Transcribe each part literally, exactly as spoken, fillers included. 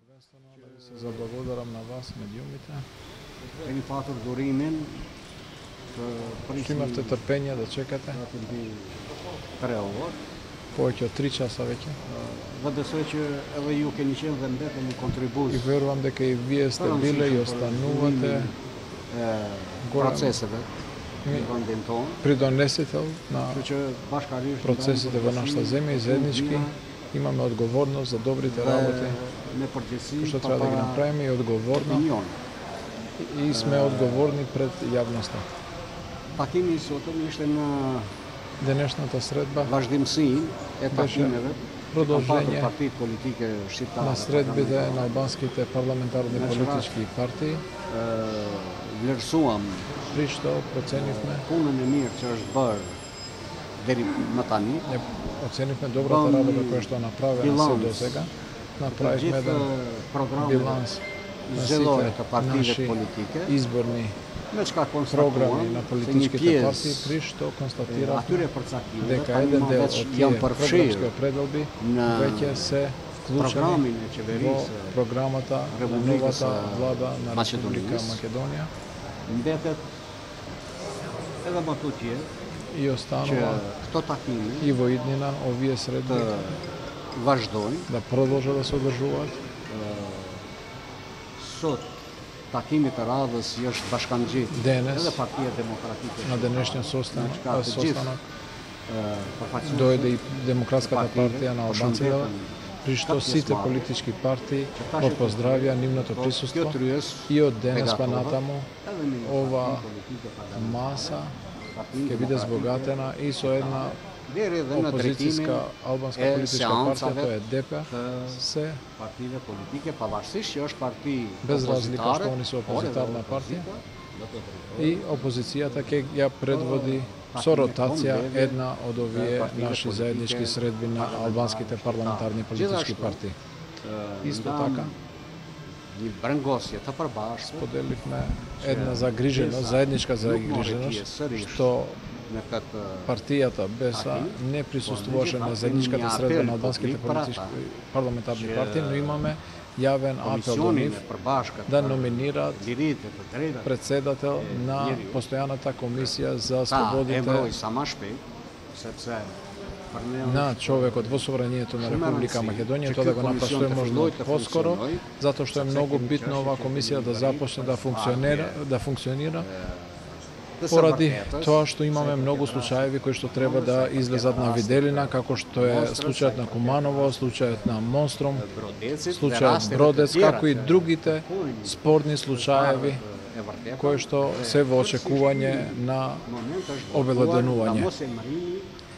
Првенствено да ви се заблагодарам на вас, медиумите. Кени патур дуримен Што имавте трпение да чекате. Повеќе од три часа веќе. Dhe besoj që edhe ju keni qenë dhe mbeteni kontribues. И верувам дека и вие сте биле и останувате процесeve në vendin tonë. Придонесител на Kështu që bashkarisht процесите во нашата земја и заеднички имаме одговорност за добрите работи me përgjegjësi што треба да ги направиме и одговорно и сме одговорни пред јавноста. Takimi i sotëm ishte në Денешната средба vazhdimsinë e takimeve продолжение партиите политike shqiptare на средбите на албанските парламентарни политички партии. Vlerësuam При што проценивме punën e mirë që është bërë deri më tani. Не оценивме добрата работа која што направена се до сега. Направивме еден биланс на сите наши изборни програми на политичките партии, при што констатиравме дека еден дел од тие програмски определби веќе се вклучени во програмата на новата влада на Република Македонија. Mbetet edhe më tutje И останува këto takime и во иднина овие средби vazhdojnë. да продолжат да се одржуваат. Sot takimi të radhës i është bashkangjitur Денес edhe Partia Demokratike на денешниот состанок, Ka të gjithë состанок përfaqësues дојде и Демократската партија на албанците, при што сите политички партии го поздравија нивното присуство и од денес па натаму ова маса ќе биде збогатена и со една deri edhe në опозицијска drejtimin албанска e политичка партија, seancave тоа е ДП, се partive politike, pavarësisht që është parti без разлика што opozitare, они се опозитарна por партија edhe и опозицијата ќе ја предводи со ротација една од овие наши заеднички средби на албанските парламентарни политички партии. Исто така, një brengosje të përbashkët поделивме една загриженост, заедничка загриженост, што në këtë партијата БЕСА не присуствуваше на заедничката средба на албанските политички парламентарни партии, но имаме јавен апел до нив да номинираат lirit e të drejtat председател на постојаната комисија за слободите emroj sa më shpejt, sepse për ne на човекот во собранието на Република Македонија, тоа да го направи што е можно поскоро, затоа што е многу битно оваа комисија да започне да функционира, да функционира поради тоа што имаме многу случаеви кои што треба да излезат на виделина, како што е случајот на Куманово, случајот на Монстром, случајот Бродец, како и другите спорни случаеви кои што се во очекување на обелоденување.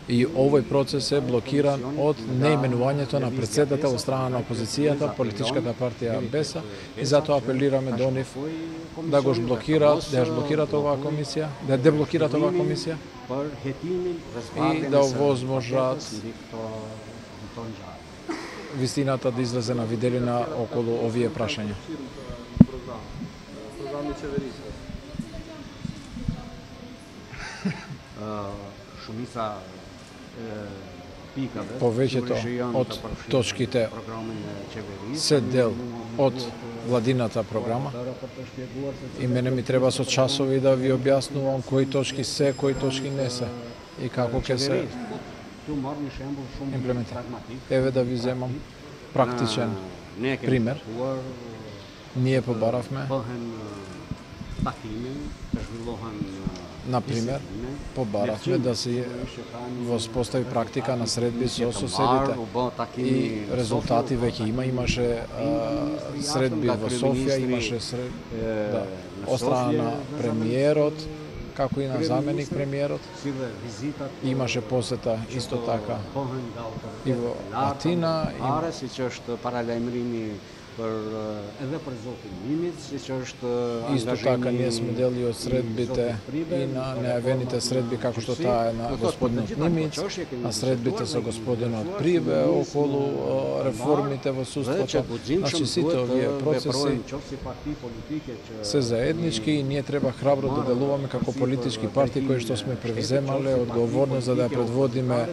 И овој процес е блокиран од неименувањето на председател од страна на опозицијата, политичката партија БЕСА, и затоа апелираме до нив да го блокираат, да ја блокираат оваа комисија, да ја деблокираат оваа комисија и да овозможат вистината да излезе на виделина околу овие прашања. Shumica pikave Повеќето од точките се дел од владината програма и мене ми треба со часови да ви објаснувам кои точки се, кои точки не се и како ќе се имплементира. Еве да ви земам практичен пример. Ние побаравме, например, побаравме да се воспостави практика на средби со соседите и резултати веќе има. Имаше а, средби во Софија, имаше сред... да, од страна на премиерот, како и на заменик премиерот. Имаше посета исто така и во Атина. Are siç është paralajmërimi për edhe për zotin Mimic, siç është Исто така ние сме дели од средбите и на нејавените средби како што таа е на господинот Нимиц, на средбите со господинот Прибе околу реформите во судството. Значи сите овие процеси се заеднички и ние треба храбро да делуваме како политички партии кои што сме превземале одговорност за да ја предводиме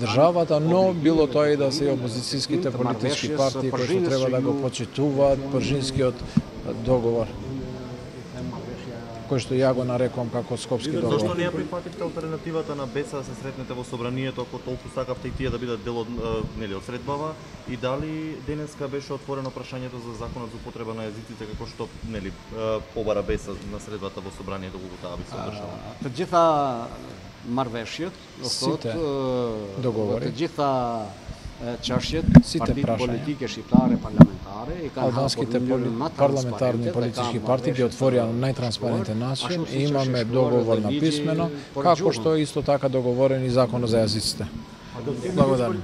државата, но било тоа и да се и опозицијските политички партии кои што треба да го почитаме почитуваат Пржинскиот договор, кој што ја го нарекувам како Скопски договор. Зошто не ја прифативте алтернативата на Беса да се сретнете во собранието, ако толку сакавте и тие да бидат дел од, нели, од средбава, и дали денеска беше отворено прашањето за законот за употреба на јазиците, како што, нели, побара Беса на средбата во собранието кога таа би се одржала? Të gjitha marrëveshjet, Сите договори, të gjitha çështjet, Сите partitë прашања. politike shqiptare parlamentare i kanë албанските парламентарни политички партии ги отворија на најтранспарентен начин и имаме договор на писмено, како што исто така договорен и законот за јазиците. Благодарам.